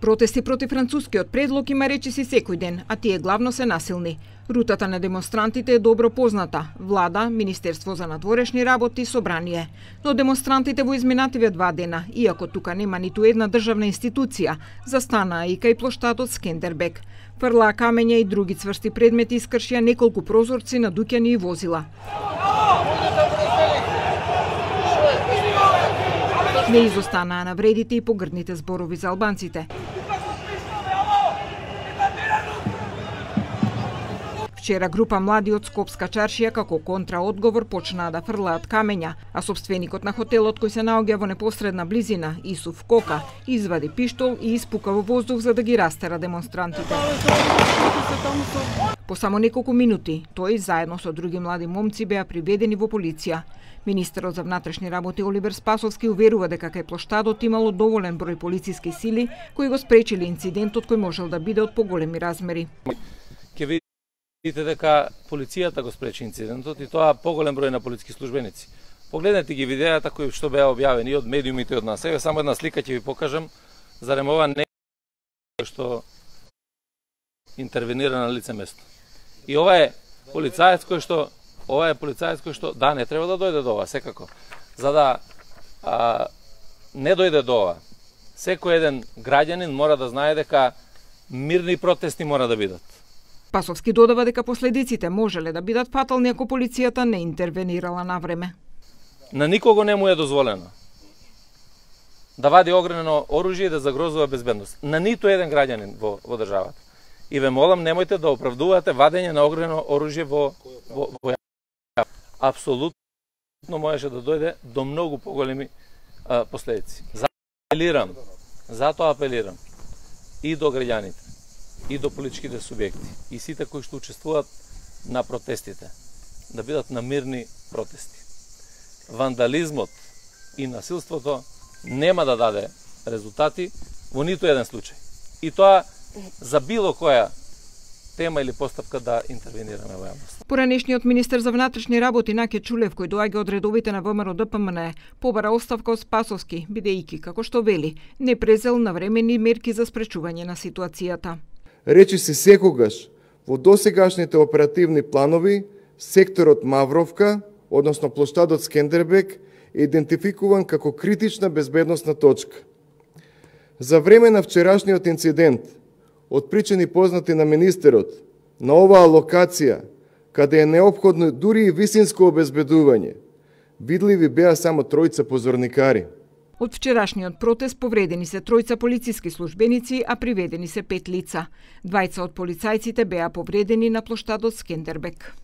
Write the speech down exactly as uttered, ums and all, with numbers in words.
Протести против францускиот предлог има речиси секој ден, а тие главно се насилни. Рутата на демонстрантите е добро позната: влада, Министерство за надворешни работи и собрание. Но демонстрантите во изминативе два дена, иако тука нема ниту една државна институција, застанаа и кај плоштадот Скендербек. Фрлаа камења и други цврсти предмети, искршија неколку прозорци на дуќани и возила. Не изостанаа навредите и погрдните зборови за албанците. Вчера група млади од Скопска чаршија како контраодговор почнаа да фрлаат камења, а собственикот на хотелот кој се наоѓа во непосредна близина, Исуф Кока, извади пиштол и испука во воздух за да ги растера демонстрантите. По само неколку минути, тој заедно со други млади момци беа приведени во полиција. Министерот за внатрешни работи Оливер Спасовски уверува дека кај плоштадот имало доволен број полициски сили кои го спречили инцидентот кој можел да биде од поголеми размери. Ке видите дека полицијата го спречи инцидентот и тоа поголем број на полициски службеници. Погледнете ги видеата кои што беа објавени од медиумите од нас. Еве само една слика ќе ви покажам, зарем ова не што интервенира на лице место. И ова е полицаец кој што ова е полицаец кој што да не треба да дојде до ова секако. За да а, не дојде до ова, секој еден граѓанин мора да знае дека мирни протести мора да бидат. Пасовски додава дека последиците можеле да бидат фатални ако полицијата не интервенирала на време. На никого не му е дозволено да вади огнено оружје и да загрозува безбедност. На ниту еден граѓанин во, во државата. И ве молам, немојте да оправдувате вадење на огнено оружје во, во, во апсолутно можеше да дојде до многу поголеми а, последици. Затоа апелирам, затоа апелирам и до граѓаните, и до политичките субјекти, и сите кои што учествуваат на протестите, да бидат на мирни протести. Вандализмот и насилството нема да даде резултати во ниту еден случај. И тоа за било која тема или постапка да интервенираме во јавност. Поранешниот министер за внатрешни работи Наке Чулев, кој доаѓа од редовите на ВМРО Д П М Н, побара оставка од Спасовски, бидејќи, како што вели, не презел навремени мерки за спречување на ситуацијата. Речи се секогаш во досегашните оперативни планови секторот Мавровка, односно плоштадот Скендербек, е идентификуван како критична безбедносна точка. За време на вчерашниот инцидент, од причини познати на министерот, на оваа локација, каде е неопходно дури и висинско обезбедување, видливи беа само тројца позорникари. Од вчерашниот протест повредени се тројца полициски службеници, а приведени се пет лица. Двајца од полицајците беа повредени на плоштадот Скендербек.